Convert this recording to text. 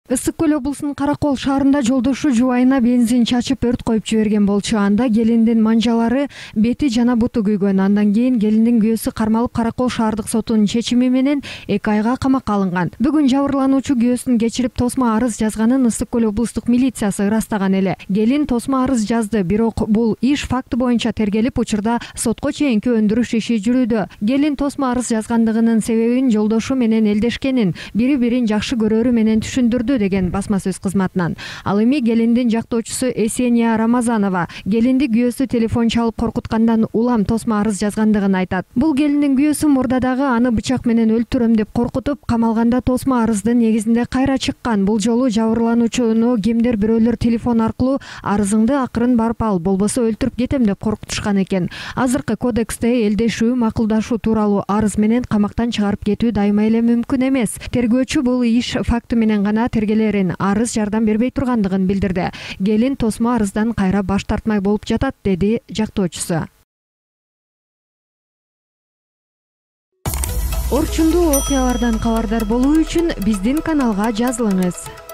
Ысык Көл облусунун Каракол шаарында жолдошу жубайына бензин чачып өрт коюп жиберген болчу. Анда келиндин манжалары, бети жана буту күйгөн. Андан кийин келиндин күйөөсү кармалып Каракол шаардык сотунун чечими менен 2 айга камакка алынган. Бүгүн жабырлануучу күйөөсүн кечирип тосмо арыз жазганын Ысык Көл облустук милициясы ырастаган эле. Келин тосмо арыз жазды, бирок бул иш факты боюнча тергелип, учурда сотко чейинки өндүрүш иши жүрүүдө. Келин тосмо арыз жазгандыгынын себебин жолдошу менен элдешкенин, бири-бирин жакшы көрөрү менен түшүндүрдү деген басма сөз кызматынан. Ал эми келиндин жактоочусу Эсения Рамазанова келинди күйөөсү телефон чалып коркуткандан улам тосмо арыз жазгандыгын айтат. Бул келиндин күйөөсү мурдадагы аны бычак менен өлтүрөм деп коркутуп, камалганда тосмо арыздын негизинде кайра чыккан. Бул жолу жабырлануучуну кимдир бирөөлөр телефон аркылуу арызыңды акырын барып ал, болбосо өлтүрүп кетем деп коркутушкан экен. Азыркы кодексте элдешүү, макулдашуу тууралуу арыз менен камактан чыгарып кетүү дайыма эле мүмкүн эмес. Тергөөчү бул иш факты менен гана тергелерин, арыз жардам бербей тургандыгын билдирди. Келин тосмо арыздан кайра баш тартмай болуп жатат, деди жактоочусу. Орчундуу окуялардан кабардар болуу үчүн биздин каналга жазылыңыз.